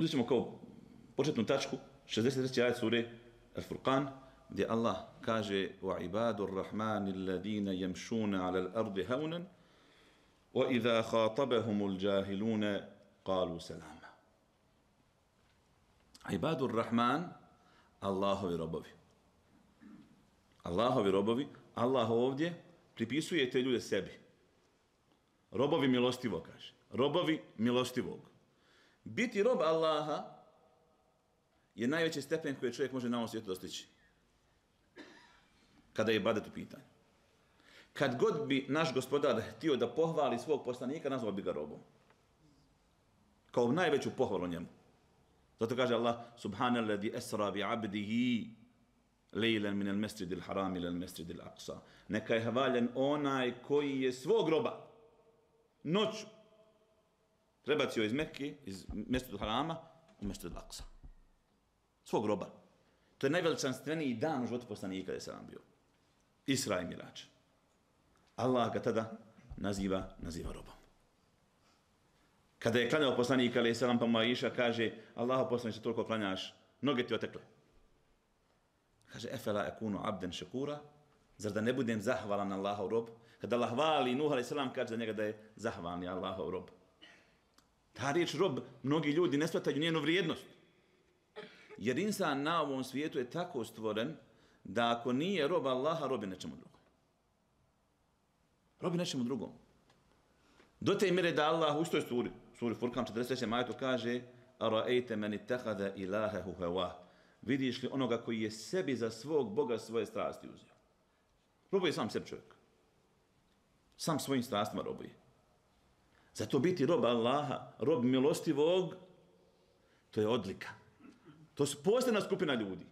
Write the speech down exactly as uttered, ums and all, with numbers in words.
Uzet ćemo kao početnu tačku šezdeset treći ajet sure Al-Furqan, gdje Allah kaže وَعِبَادُ الرَّحْمَانِ الَّذِينَ يَمْشُونَ عَلَى الْأَرْضِ هَوْنًا وَإِذَا خَاطَبَهُمُ الْجَاهِلُونَ قَالُوا سَلَامًا. Ibadur Rahman, Allahovi robovi. Allahovi robovi, Allah ovdje pripisuje te ljude sebi. Robovi milostivo, kaže. Robovi milostivog. Biti rob Allaha je najveći stepen koji čovjek može na ovom svijetu dostići. Kada je ibadet u pitanju. Kad god bi naš gospodar htio da pohvali svog poslanika, nazvao bi ga robom. Kao najveću pohvalu njemu. Zato kaže Allah, subhanalladhi esra bi abdihi lejlen min al-mesjid al-haram ila al-mesjid al-aqsa. Neka je hvaljen onaj koji je svog roba noću prebacio iz Mekke, iz mesjid al-harama u mesjid al-aqsa. Svog roba. To je najveličanstveniji dan u životu poslanika da se vam bio. Isra i Mirač. Allah ga tada naziva, naziva robom. Kada je klanjao poslanik alejhi selam, pa mu Aisha kaže: "Allahu poslanice, toliko klanjaš, noge ti otekle." Kaže: "Efela akunu abdan shakura?" Zar da ne budem zahvalan Allahov rob? Kada Allah hvali Nuh alejhi selam, kaže za njega da je zahvalni Allahov rob. Ta riječ rob, mnogi ljudi ne shvataju njenu vrijednost. Jer insan na ovom svijetu je tako stvoren da ako nije rob Allaha, robi nečemu drugom. Robi nečemu drugom. Do te mjere da Allah u istoj suri, suri Furkan četrdeset trećem ajetu kaže: "Ara'ayta man ittakhadha ilahahu hawa." Vidiš li onoga koji je sebi za svog Boga svoje strasti uzeo? Robuje sam sebi čovjek. Sam svojim strastima robuje. Zato biti rob Allaha, rob milostivog, to je odlika. To su posebna skupina ljudi.